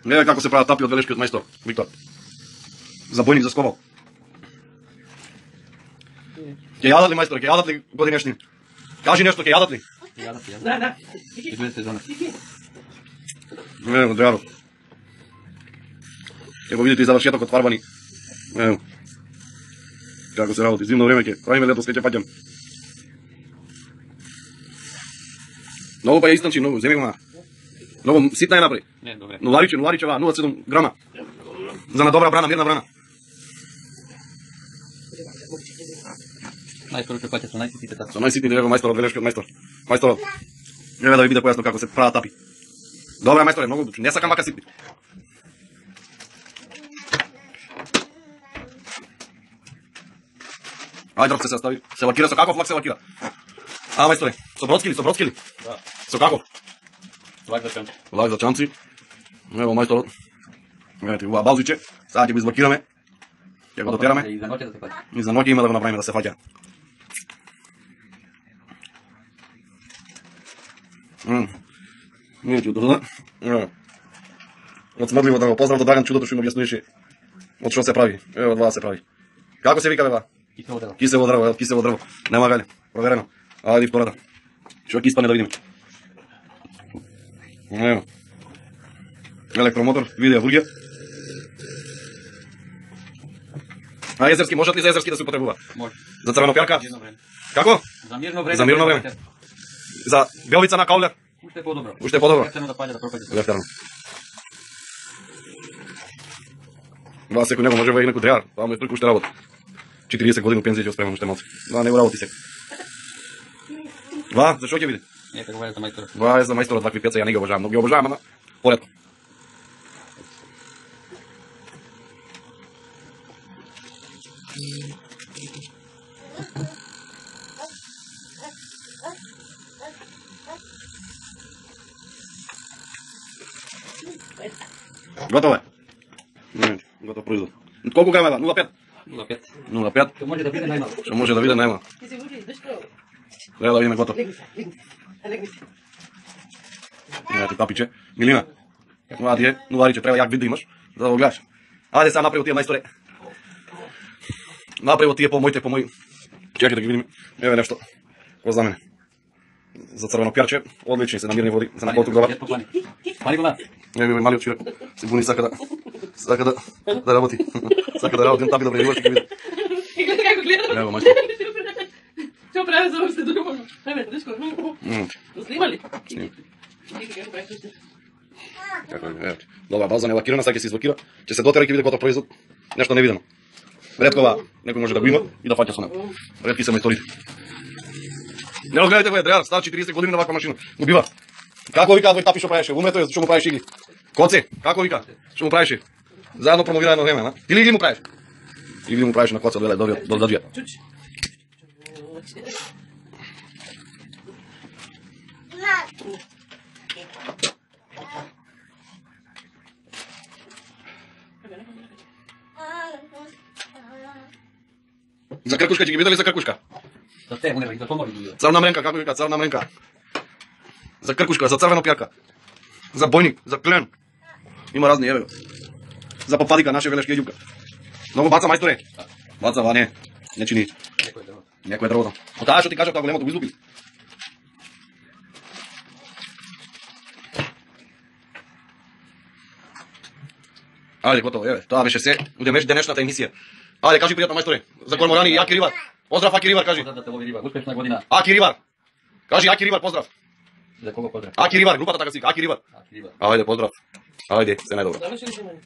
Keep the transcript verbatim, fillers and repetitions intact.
Гледај како се прават тапи од велешкиот мајстор Виктор. Забојник за сковал. Ќе јадат ли мајсторе, ќе јадат ли годинешни? Кажи нешто, ќе јадат ли? Ќе јадат, ќе јадат. Да, да. Излезете за нас. Ево, драго. Ќе го видите и завршетокот фарбани. Ево. Како се работи, зимно време ќе правиме лето скеќе паѓам. Многу па ја истанчи, многу, земи го ма. Многу ситна е напри. Не, добре. Нулариче, нулариче, ова, нула цедам грама. За на добра брана, мирна брана. Најскоро ќе паќа со најситните тапи. Со најситните него мајстор од велешкиот мајстор. Мајсторот. Еве да ви биде појасно како се прават тапи. Добра мајсторе, многу, не сакам вака ситни. Ајде дрвце се стави. Се лакира со каков лак се лакира? А мајсторе, со бродски ли, со бродски ли? Да. Со каков? Лак за чанци. Лак за чанци. Ево мајсторот. Видите, ова балзиче. Сега ќе го излакираме. Ќе го дотераме. И за ноќе да се паќа. И за ноќе има да го направиме да се фаќа. Мм. Не ќе додам. Од смрдливо да го поздрав до Драган чудото што им објаснуваше од што се прави. Ево од ваа се прави. Како се вика бе ва? Кисело дрво. Кисело дрво, ево кисело дрво. Нема гале. Проверено. Ајде втората. Што ќе испане да видиме. Ево. Електромотор, видео бургија. А езерски можат ли за езерски да се употребува? Може. За црвено пјарка? Мирно време. Како? За мирно време. За мирно време. За белица на каулер? Уште е подобро. Уште е подобро. Ефтено да паѓа да пропаѓа. Лефтерно. Ва секој него може во и некој дреар, тоа му е тоliko уште работа. четириесет години пензија ќе спремам уште малце. Ва него работи секој. Ва, за што ќе биде? Не, како вајде за мајстор. Ва е за мајсторот вакви пеца, ја не ги обожавам, но ги обожавам, ама поредко. Готово е. Готов производ. Колку грама е? нула пет? нула пет. нула пет. Што може да биде најмало. Што може да биде најмало. Ти се вуди, дешко. Треба да видиме готов. Легни се, легни се. Легни се. Знаете, тапиче. Милина. Ова ти е, нулариче, треба јак вид да имаш, за да го гледаш. Ајде сега направи тие мајсторе. Направи тие по моите, по мои. Чекај да ги видиме. Еве нешто. Ко за мене. За црвено пјарче, одлични се на мирни води, се на колку добар. Пани го на. Еве малиот чирак. Се буни сака да сака да да работи. Сака да работи, тапи да вреди, ќе види. И гледа како гледа. Ево мајстор. Што прави за уште друго? Еве, дешко. Мм. Снима ли? Снима. Како прави уште? Како е, еве. Добра база не лакирана, сега ќе се излакира, ќе се дотера и ќе биде готов производ. Нешто невидено. Реткова некој може да го има и да фаќа со него. Ретки се мајсторите. Не разгледате во дреар, става четириесет години на ваква машина. Го бива. Како вика овој тапи што правеше? Умето е што му правеше игли. Коце, како вика? Што му правеше? Заедно промовира едно време, на? Или игли му правеше? Игли му правеше на коца, гледај, добија, до даџија. Чуч. За кркушка ќе ги видели за кркушка. За те, не, за помори. Црна мренка, како вика, црна мренка. За кркушка, за црвено пјарка. За бојник, за клен. Има разни, еве го. За попадика, наше велешки ѓубка. Многу баца мајсторе. Баца, ва не. Не чини. Некој дрво. Некој дрвото. О таа што ти кажав, тоа големото го излупили. Ајде, готово, еве. Тоа беше се. Удемеш денешната емисија. Ајде, кажи пријатно мајсторе. За корморани и Аки Ривар. Поздрав Аки Ривар, кажи. Да те лови риба. Успешна година. Аки Ривар. Кажи Аки Ривар, поздрав. За кого поздрав? Аки Ривар, групата така си, Аки Ривар. Аки риба. Ајде, поздрав. Ајде, се најдобро. Завршили сме.